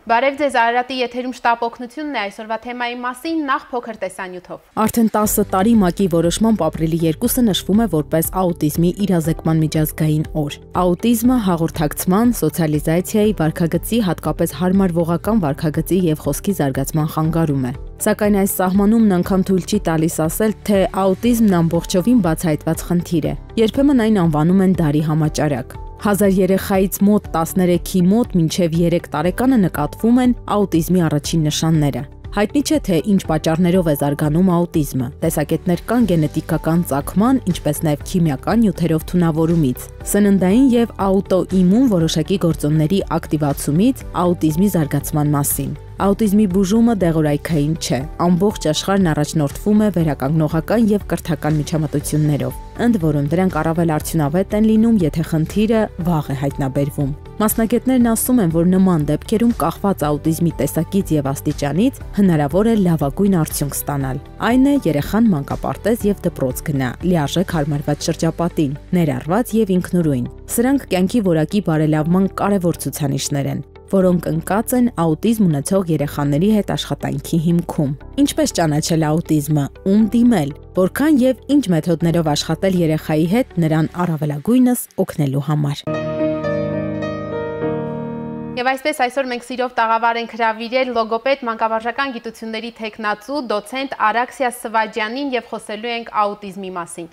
Բարև ձեզ, Արարատի եթերում շտապ օգնությունն է այսօրվա թեմայի մասին նախ փոքր տեսանյութով։ Արդեն 10 տարի ՄԱԿ-ի որոշմամբ ապրիլի 2-ը նշվում է որպես աուտիզմի իրազեկման միջազգային օր։ Աուտիզմը հաղորդակցման, սոցիալիզացիայի, վարքագծի, հատկապես հարմարվողական վարքագծի եւ խոսքի զարգացման խանգարում է։ Սակայն այս սահմանումն անգամ թույլ չի տալիս ասել, թե աուտիզմն ամբողջովին բացահայտված խնդիր է։ Երբեմն այն անվանում են դարի համաճարակ։ 1000 երեխայից մոտ 13-ի մոտ մինչև 3 տարեկանը նկատվում են աուտիզմի առաջին նշանները։ Հայտնի չէ, թե ինչ պատճառներով է զարգանում աուտիզմը։ Տեսակետներ կան գենետիկական ծագման, ինչպես նաև քիմիական նյութերով թունավորումից, սննդային եւ աուտոիմուն որոշակի գործոնների ակտիվացումից աուտիզմի զարգացման մասին։ Աուտիզմի բուժումը դեղորայքային չէ։ Ամբողջ աշխարհն առաջնորդվում է վերականգնողական եւ կրթական միջամտություններով, ընդ որում դրանք առավել արդյունավետ են լինում, եթե խնդիրը վաղ է հայտնաբերվում։ Մասնագետներն ասում են, որ նման դեպքերում կախված աուտիզմի տեսակից եւ աստիճանից հնարավոր է լավագույն արդյունք ստանալ։ Այն է երեխան մանկապարտեզ եւ դպրոց գնա, լիարժեք հարմարված շրջապատին, ներառված եւ ինքնուրույն։ Սրանք կյանքի որակի բարելավման կարևոր ցուցանիշներ են, որոնք ընկած են աուտիզմ ունեցող երեխաների հետ աշխատանքի հիմքում։ Ինչպես ճանաչել աուտիզմը, ում դիմել, որքան եւ ինչ մեթոդներով աշխատել երեխայի հետ նրան առավելագույնս օգնելու համար։ Եվ այսպես այսօր մենք սիրով տաղավար ենք հրավիրել լոգոպեդ մանկավարժական գիտությունների թեկնածու դոցենտ Արաքսիա Սվաջյանին եւ խոսելու ենք աուտիզմի մասին։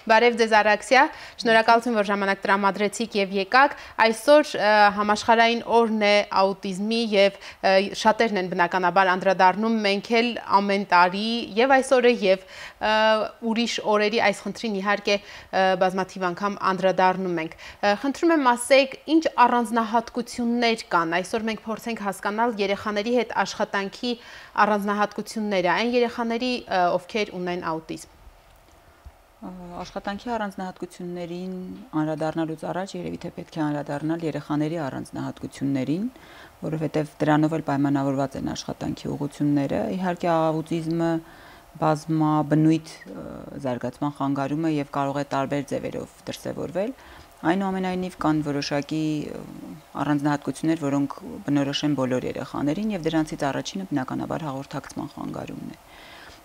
Բարև ձեզ Արաքսիա, շնորհակալություն, որ ժամանակ տրամադրեցիք եւ եկաք։ Այսօր համաշխարհային օրն է աուտիզմի եւ շատերն են բնականաբար անդրադառնում, մենք էլ ամեն տարի եւ այսօրը եւ ուրիշ օրերի այս խնդրին իհարկե բազմաթիվ անգամ անդրադառնում ենք։ Խնդրում եմ ասեք, ինչ առանձնահատկություններ կան։ Այսօր մենք փորձենք հասկանալ երեխաների հետ աշխատանքի առանձնահատկությունները, այն երեխաների, ովքեր ունեն աուտիզմ։ Աշխատանքի առանձնահատկություններին անդրադառնալուց առաջ երևի թե պետք է անդրադառնալ երեխաների առանձնահատկություններին, որովհետև դրանով էլ պայմանավորված են աշխատանքի ուղղությունները։ Իհարկե աուտիզմը բազմաբնույթ զարգացման խանգարում է եւ կարող է տարբեր ձևերով դրսևորվել։ Այնուամենայնիվ կան որոշակի առանձնահատկություններ, որոնք բնորոշ են բոլոր երեխաներին եւ դրանցից առաջինը բնականաբար հաղորդակցման խանգարումն է։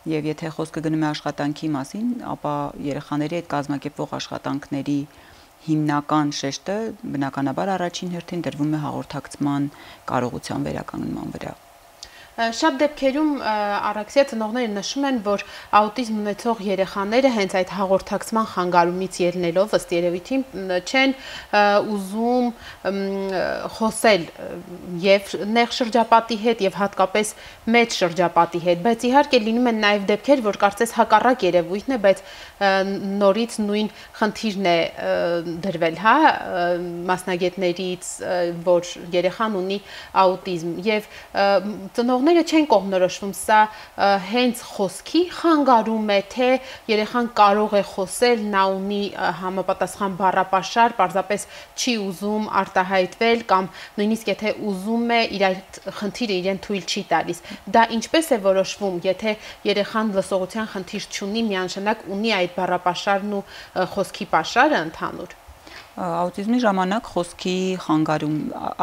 Եվ եթե խոսքը գնում է աշխատանքի մասին, ապա երեխաների հետ կազմակերպվող աշխատանքների հիմնական շեշտը բնականաբար առաջին հերթին դրվում է հաղորդակցման կարողության վերականգնման վրա։ Շատ դեպքերում Արաքսիա ծնողները նշում են, որ աուտիզմ ունեցող երեխաները հենց այդ հաղորդակցման խանգարումից ելնելով ըստ երևույթին չեն ուզում խոսել եւ նեղ շրջապատի հետ եւ հատկապես մեծ շրջապատի հետ, բայց իհարկե լինում են նաեւ դեպքեր, որ կարծես հակառակ երևույթն է, բայց նորից նույն խնդիրն է դրվել, հա, մասնագետներից, որ երեխան ունի աուտիզմ եւ ծնողները չեն կողմնորոշվում, սա հենց խոսքի խանգարում է, թե երեխան կարող է խոսել, նա ունի համապատասխան բառապաշար, պարզապես չի ուզում արտահայտվել կամ նույնիսկ եթե ուզում է, իր այդ խնդիրը իրեն թույլ չի տալիս։ Դա ինչպես է որոշվում, եթե երեխան լսողության խնդիր չունի, միանշանակ ունի այդ բառապաշարն ու խոսքի պաշարը ընդհանուր։ Աուտիզմի ժամանակ խոսքի խանգարում,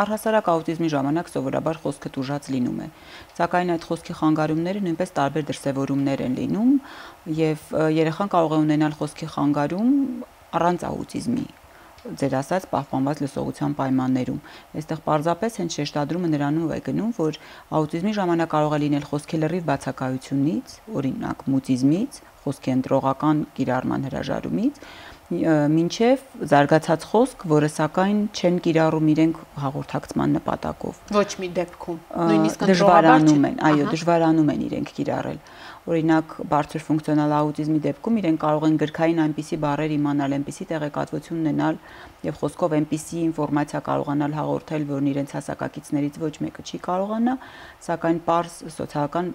առհասարակ աուտիզմի ժամանակ սովորաբար խոսքը տուժած լինում է, սակայն այդ խոսքի խանգարումները նույնպես տարբեր դրսևորումներ են լինում եւ երեխան կարող է ունենալ խոսքի խանգարում առանց աուտիզմի, ձեր ասած պահպանված լսողության պայմաններում։ Այստեղ պարզապես հենց շեշտադրումը նրանով է գնում, որ աուտիզմի ժամանակ կարող է լինել խոսքի լրիվ բացակայությունից, օրինակ մուտիզմից, խոսքի ընտրողական կիրառման հրաժարումից, մինչև զարգացած խոսք, որը սակայն չեն կիրառում իրենք հաղորդակցման նպատակով։ Ոչ մի դեպքում, նույնիսկ դժվարանում են, այո, դժվարանում են իրենք կիրառել։ Օրինակ, բարձր ֆունկցիոնալ աուտիզմի դեպքում իրենք կարող են գրքային այնպիսի բառեր իմանալ, այնպիսի տեղեկատվություն ունենալ եւ խոսքով այնպիսի ինֆորմացիա կարողանալ հաղորդել, որն իրենց հասակակիցներից ոչ մեկը չի կարողանա, սակայն պարզ սոցիալական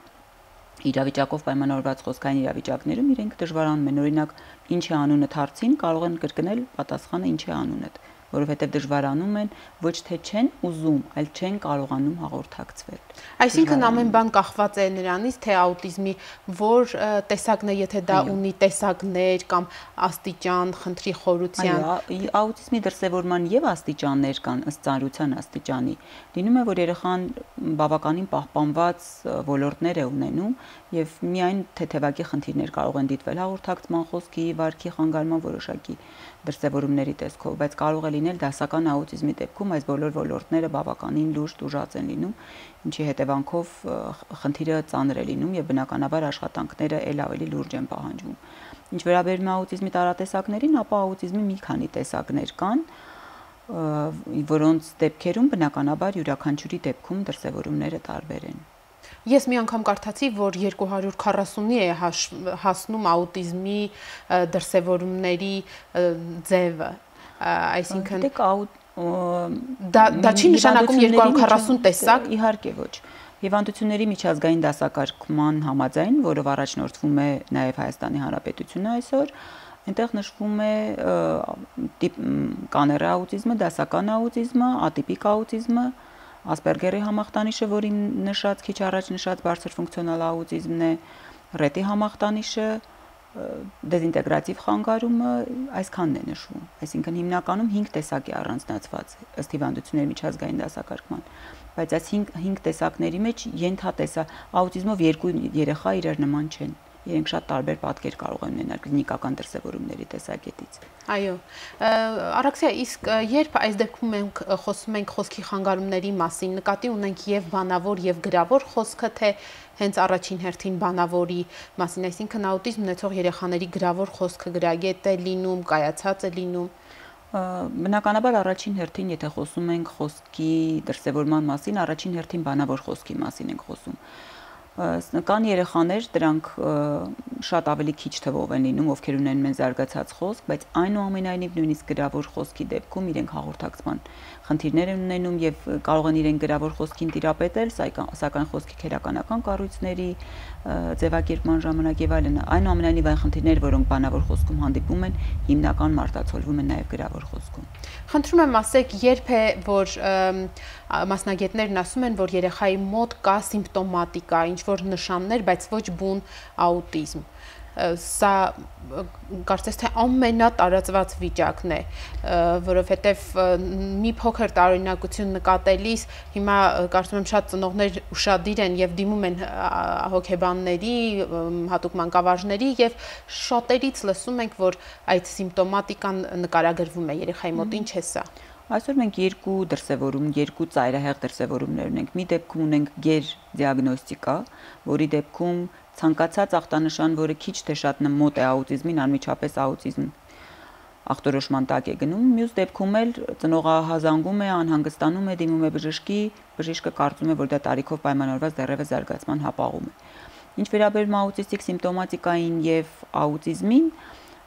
իրավիճակով պայմանավորված խոսքային իրավիճակներում իրենք դժվարանում են, օրինակ, ինչ է անունդ հարցին կարող են կրկնել պատասխանը ինչ է անունդ։ որովհետև դժվարանում են, ոչ թե չեն ուզում, այլ չեն կարողանում հաղորդակցվել։ Այսինքն ամեն բան կախված է նրանից, թե աուտիզմի որ տեսակն է, եթե դա ունի տեսակներ կամ աստիճան, խնդրի խորության։ Աուտիզմի դրսևորման եւ աստիճաններ կան ըստ ծանրության աստիճանի։ Լինում է, որ երեխան բավականին պահպանված ոլորտներ է ունենում եւ միայն թեթևակի խնդիրներ կարող են դիտվել հաղորդակցման, խոսքի, վարքի խանգարման որոշակի դրսևորումների տեսքով, բայց կարող է լինել դասական աուտիզմի դեպքում այս բոլոր ոլորտները բավականին լուրջ տուժած են լինում, ինչի հետևանքով խնդիրը ծանր է լինում եւ բնականաբար աշխատանքները ել ավելի լուրջ են պահանջվում։ Ինչ վերաբերում է աուտիզմի տարատեսակներին, ապա աուտիզմի մի քանի տեսակներ կան, որոնց դեպքերում բնականաբար յուրաքանչյուրի դեպքում դրսևորումները տարբեր են։ Ես մի անգամ կարդացի, որ 240-ի է հասնում աուտիզմի դրսևորումների ձևը, այսինքն դա չի նշանակում 240 տեսակ։ Իհարկե ոչ։ Հիվանդությունների միջազգային դասակարգման համաձայն, որով առաջնորդվում է նաև Հայաստանի Հանրապետությունը այսօր, այնտեղ նշվում է կանեռ աուտիզմը, դասական աուտիզմը, ատիպիկ աուտիզմը, Ասպերգերի համախտանիշը, որին նշած քիչ առաջ նշած բարձր ֆունկցիոնալ աուտիզմն է, ռետի համախտանիշը, դեզինտեգրատիվ խանգարումը, այսքանն է նշվում։ Այսինքն հիմնականում 5 տեսակ է առանձնացված ըստ հիվանդությունների միջազգային դասակարգման, բայց այս 5 տեսակների մեջ աուտիզմով 2 երեխա իրար նման չեն։ Իրենք շատ տարբեր պատկեր կարող են ունենալ կլինիկական դրսևորումների տեսակետից։ Այո, Արաքսիա, իսկ երբ այս դեպքում մենք խոսում ենք խոսքի խանգարումների մասին, նկատի ունենք եւ բանավոր եւ գրավոր խոսքը, թե հենց առաջին հերթին բանավորի մասին, այսինքն աուտիզմ ունեցող երեխաների գրավոր խոսքը գրագետ է լինում, կայացած է լինում։ Բնականաբար առաջին հերթին, եթե խոսում ենք խոսքի դրսևորման մասին, առաջին հերթին բանավոր խոսքի մասին ենք խոսում։ Կան երեխաներ, դրանք շատ ավելի քիչ թվով են լինում, ովքեր ունեն մեն զարգացած խոսք, բայց այնուամենայնիվ նույնիսկ գրավոր խոսքի դեպքում իրենք հաղորդակցման խնդիրներ են ունենում եւ կարող են իրենք գրավոր խոսքին տիրապետել, սակայն խոսքի քերականական կառույցների ձևակերպման ժամանակ եւ այլն, այնուամենայնիվ այն խնդիրները, որոնք բանավոր խոսքում հանդիպում են, հիմնական մարտացոլվում են նաեւ գրավոր խոսքում։ Խնդրում եմ ասեք, երբ է, որ մասնագետներն ասում են, որ երեխայի մոտ կա սիմպտոմատիկա, ինչ-որ նշաններ, բայց ոչ բուն աուտիզմ։ Սա կարծես թե ամենատարածված վիճակն է, որովհետև մի փոքր տարօրինակություն նկատելիս հիմա կարծում եմ շատ ծնողներ ուշադիր են եւ դիմում են հոգեբանների, հատուկ մանկավարժների եւ շատերից լսում ենք, որ այդ սիմպտոմատիկան նկարագրվում է երեխայի մոտ, ինչ է սա։ Այսօր մենք երկու ծայրահեղ դրսևորումներ ունենք։ Մի դեպքում ունենք գեր դիագնոստիկա, որի դեպքում ցանկացած ախտանշան, որը քիչ թե շատ մոտ է աուտիզմին, անմիջապես աուտիզմ ախտորոշման տակ է գնում։ Մյուս դեպքում էլ ծնողը հազանգում է, անհանգստանում է, դիմում է բժշկի, բժիշկը կարծում է, որ դա տարիքով պայմանավորված դեռևս զարգացման հապաղում է։ Ինչ վերաբերում աուտիստիկ սիմպտոմատիկային եւ աուտիզմին,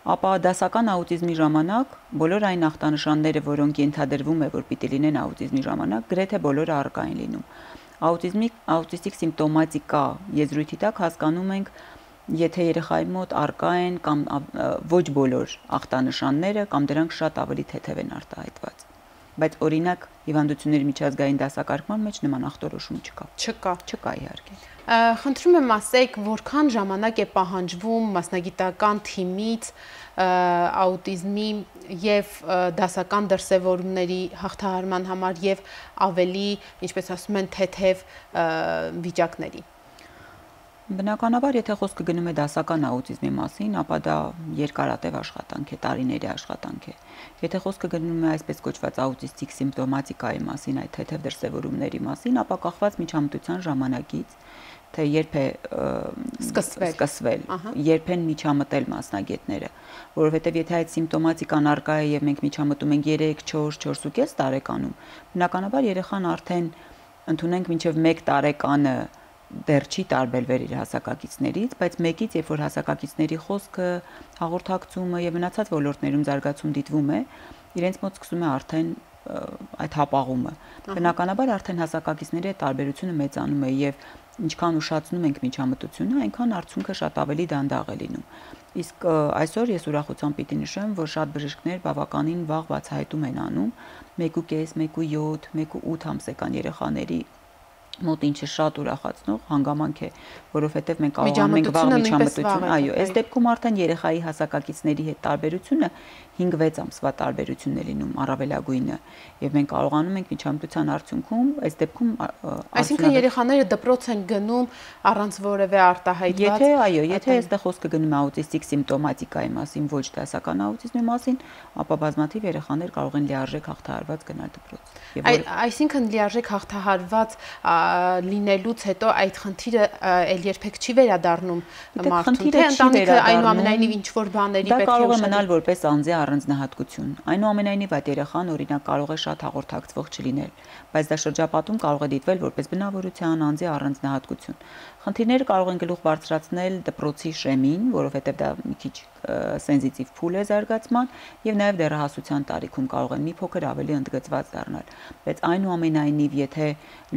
ապա դասական աուտիզմի ժամանակ բոլոր այն ախտանշանները, որոնք ենթադրվում է, որ պիտի լինեն աուտիզմի ժամանակ, գրեթե բոլորը առկա են լինում։ Աուտիստիկ սիմպտոմատիկա եզրույթի տակ հասկանում ենք, եթե երեխայի մոտ առկա են կամ ոչ բոլոր ախտանշանները կամ դրանք շատ ավելի թեթև են արտահայտված։ Բայց օրինակ հիվանդությունների միջազգային դասակարգման մեջ նման ախտորոշում չկա։ Չկա իհարկե։ Խնդրում եմ ասեք, որքան ժամանակ է պահանջվում մասնագիտական թիմից աուտիզմի եւ դասական դրսևորումների հաղթահարման համար եւ ավելի, ինչպես ասում են, թեթև վիճակների։ Բնականաբար, եթե խոսքը գնում է դասական աուտիզմի մասին, ապա դա երկարատև աշխատանք է, տարիների աշխատանք է։ Եթե խոսքը գնում է այսպես կոչված աուտիստիկ սիմպտոմատիկայի մասին, այդ թեթև դրսևորումների մասին, ապա կախված միջամտության ժամանակից, թե երբ է սկսվել, երբ են միջամտել մասնագետները, որովհետև եթե այդ սիմպտոմատիկան առկա է եւ մենք միջամտում ենք 3, 4, 4.5 տարեկանում, բնականաբար երեխան արդեն ընդունենք մինչեւ 1 տարեկանը դեռ չի տարբերվել իր հասակակիցներից, բայց մեկից, երբ որ հասակակիցների խոսքը, հաղորդակցումը եւ մնացած ոլորտներում զարգացում դիտվում է, իրենց մոտ սկսում է արդեն այդ հապաղումը։ Բնականաբար արդեն հասակակիցների այդ տարբերությունը մեծանում է եւ ինչքան ուշացնում ենք միջամտությունը, այնքան արդյունքը շատ ավելի դանդաղ է լինում։ Իսկ այսօր ես ուրախությամբ պիտի նշեմ, որ շատ բժիշկներ բավականին վաղ բացահայտում են անում 1.5, 1.7, 1.8 ամսեկան երեխաների մոտ, ինչը շատ ուրախացնող հանգամանք է, որովհետև մենք կարողանում ենք վաղ միջամտություն, այո, այս դեպքում արդեն երեխայի հասակակիցների հետ տարբերությունը 5-6 ամսվա տարբերությունն է լինում առավելագույնը, եւ մենք կարողանում ենք միջամտության արդյունքում այս դեպքում այսինքն երեխաները դպրոց են գնում առանց որևէ արտահայտված։ Եթե այո, եթե այստեղ խոսքը գնում է աուտիստիկ սիմպտոմատիկայի մասին, ոչ դասական աուտիզմի մասին, ապա բազմաթիվ երեխաներ կարող են լիարժեք հաղթահարված գնալ դպրոց։ Այսինքն լիարժեք հաղթահարված լինելուց հետո այդ խնդիրը ել երբեք չի վերադառնում մարդուն, թե ընտանիքը այնուամենայնիվ ինչ որ բաների պետք է կարող է մնալ որպես անձի առանձնահատկություն։ Այնուամենայնիվ այդ երեխան օրինակ կարող է շատ հաղորդակցվող չլինել, բայց դա շրջապատում կարող է դիտվել որպես բնավորության անձի առանձնահատկություն։ Խնդիրները կարող են գլուխ բարձրացնել դպրոցի շեմին, որովհետև դա մի քիչ սենզիտիվ փուլ է զարգացման, եւ նաեւ դեռահասության տարիքում կարող են մի փոքր ավելի ընդգծված դառնալ։ Բայց այնուամենայնիվ, եթե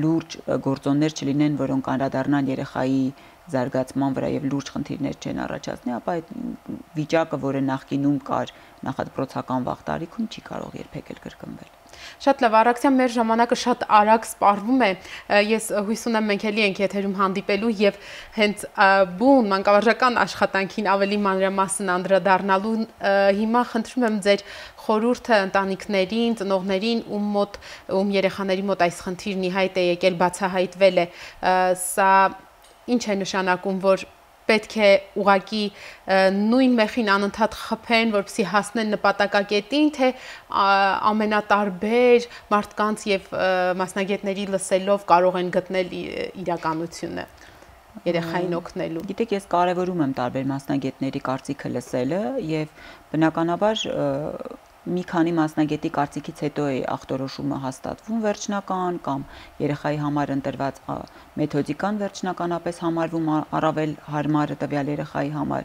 լուրջ գործոններ չլինեն, որոնք անդրադառնան երեխայի զարգացման վրա եւ լուրջ խնդիրներ չեն առաջացնի, ապա այդ վիճակը, որը նախկինում կար նախադպրոցական վաղ տարիքում, չի կարող երբեք էլ կրկնվել։ Շատ լավ, Արաքսյան, մեր ժամանակը շատ արագ սպառվում է։ Ես հույս ունեմ մենք էլի ենք եթերում հանդիպելու եւ հենց բուն մանկավարժական աշխատանքին ավելի մանրամասն անդրադառնալու հիմա խնդրում եմ ձեր խորհուրդը ընտանիքներին, ծնողներին, ում երեխաների մոտ այս խնդիրն ի հայտ է եկել, բացահայտվել է, սա ինչ է նշանակում, որ պետք է ուղղակի նույն մեխին անընդհատ խփեն, որպեսզի հասնեն նպատակակետին, թե ամենատարբեր մարդկանց եւ մասնագետների լսելով կարող են գտնել իրականությունը երեխային օգնելու։ Գիտեք, ես կարևորում եմ տարբեր մասնագետների կարծիքը լսելը եւ բնականաբար մի քանի մասնագետի կարծիքից հետո է ախտորոշումը հաստատվում վերջնական կամ երեխայի համար ընտրված մեթոդիկան վերջնականապես համարվում առավել հարմար տվյալ երեխայի համար,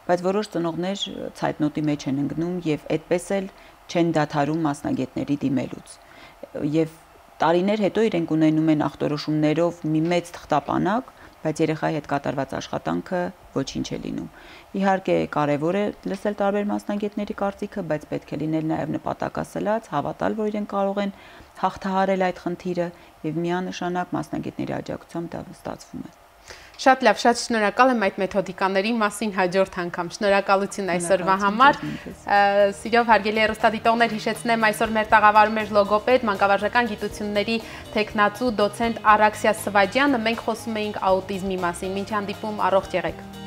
բայց որոշ ծնողներ ցայտնոտի մեջ են ընկնում եւ այդպես էլ չեն դադարում մասնագետների դիմելուց։ Եվ տարիներ հետո իրենք ունենում են ախտորոշումներով մի մեծ թղթապանակ, բայց երեխայի հետ կատարված աշխատանքը ոչինչ է լինում։ Իհարկե կարևոր է լսել տարբեր մասնագետների կարծիքը, բայց պետք է լինել նաև նպատակասլաց, հավատալ, որ իրենք կարող են հաղթահարել այդ խնդիրը եւ միանշանակ մասնագետների աջակցությամբ դա ստացվում է։ Շատ լավ, շատ շնորհակալ եմ այդ մեթոդիկաների մասին հաջորդ անգամ։ Շնորհակալություն այսօրվա համար։ Սիրով հարգելի հեռուստադիտողներ, հիշեցնեմ, այսօր մեր տաղավարում էր լոգոպեդ, մանկավարժական գիտությունների թեկնածու դոցենտ Արաքսիա Սվաջյանը։ Մենք խոսում էինք աուտիզմի մասին։ Մինչ հանդիպում, առողջ եղեք։